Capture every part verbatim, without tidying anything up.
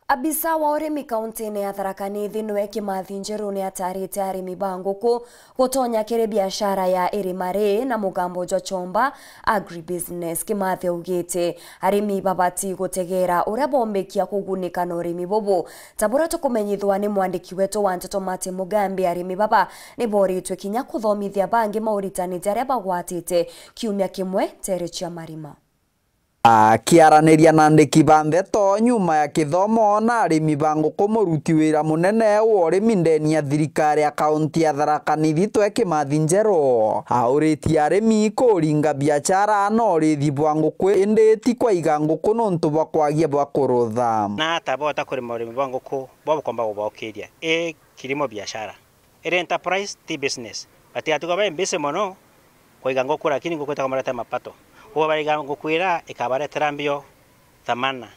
Abisa wa urimi kauntine ya Tharaka Nithi niwe Kimathi Njeru ni atarite arimi ba nguku gutonya kiri biashara ya irima ri na mugambo jwa Chomba Agribusiness. Kimathi augite arimi babati gutegera uria bombikia kugunika na urimi bubu. Ta buria tukumenyithwa ni mwandiki wetu wa nteto Martin Mugambi, arimi baba ni boritwe kinya kuthomithia bangi mauritani jaria bagwatite kiumia kimwe ntere cia marima. Akiaraniria na andiki ba ndeto nyuma ya kithomo na arimi ba nguku, muruti wira munene wa urimi ndeni ya thirikari ya kaunti ya Tharaka Nithi twe Kimathi Njeru auritie arimi kuringa biashara na urithi bwa nguku, indi ti kwaiga nguku nontu bwa kwagia bwa kurutha. Na ata bota kurima urimi bwa nguku bwa bukomba gubaukiria i kilimo biashara. Iri enterprise ti business. Batigatuga bai busy mono kuiga nguku, lakini nguku itakumaretera mapato. Kwou baiga nguku ira ikabaretera mbio thamana.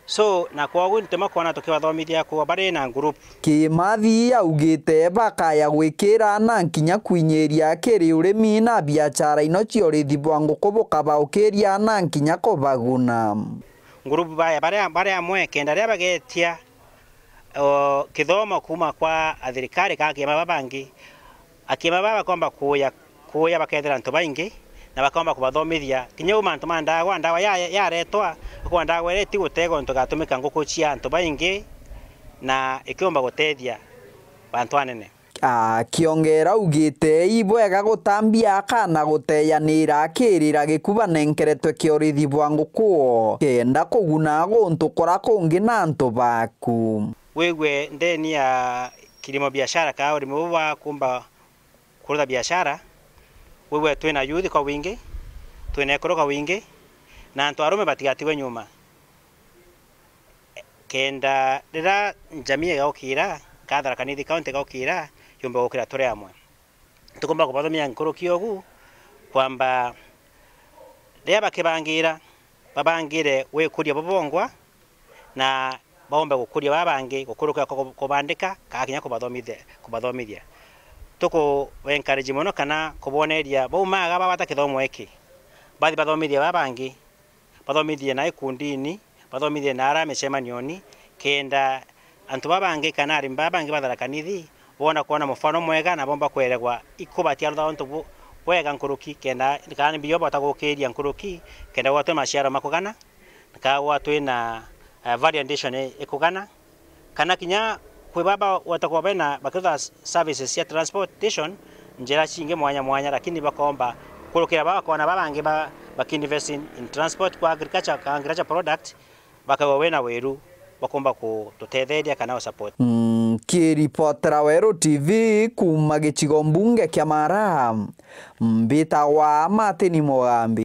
So, na kwogu nituma kwona tukibathomithia kuba bari na group. Kimathi augite bakaya gwikira na nkinya kwinyiria kiri urimi na biashara ino cia urithi bwa nguku bukabaukiria na nkinya kubaguna. Group baya bari, bari amwe kenda riria bagetia o, kithomo kuuma kwa athirikari kana akiama babangi, akiama baba bakomba kuuya, kuuya bakethira antu baingi na bakomba kubathomithia. Kinya uu mantu ma ndawa, ndawa ya, yaretwa, kwa ndawa iria iti gutega untu gatumika nguku cia antu baingi na ikiumba gutethia bantu anene. Akiongera augite ibwega gutambia kana guteyanira akirira gikuba nenkeretwe kia urithi bwa nguku kenda kuguna guntu kura kungi na antu baku. Wigue ndeni ya kilimo biashara kana urimi buu bwa kumba kurutha biashara, wigue twina youth kwa wingi, twina ekuru kwa wingi, na antu arume batigatigwe nyuma. Kenda riria njamii igaukira, kana Tharaka Nithi County igaukira, yumbe gukira turi amwe. Tukumba kubathomia nkuruki ogu, kwamba riria bakibangira, babangire gwikuria bo bongwa, na baumbe gukuria baba bangi gukurukira ku-, kubandika, kana kinya kubathomithia, kubathomithia. Tuku encourage mono kana kuboneria baumaga babata kithomo iki, bathi bathomithie baba bangi, bathomithie na ikundini, bathomithie na aria micemanioni, kenda antu baba bangi kana arimi baba bangi ba Tharaka Nithi boona kwona mufano mwega na bomba kweregwa ikubatia rutha untu bu-, bwega nkuruki, kenda kana ni mbio bota gukiria nkuruki, kenda gwatwe maciaro makugana, kana gwatwe na, eh, value addition i-, ikugana. Kana kinya kwi baba watakuwa bena bakitha services cia transportation njira cingi mwanya mwanya, lakini bakomba kurukira baba kona baba bangi ba, bakiinvest in, in transport kwa agriculture, ka agriculture product, bakagwa wena wiru bakomba kututetheria kana u support. Mm, kiripotera Weru T V kuma gicigo mbunge kia Mara, mbitagwa Martin Mugambi.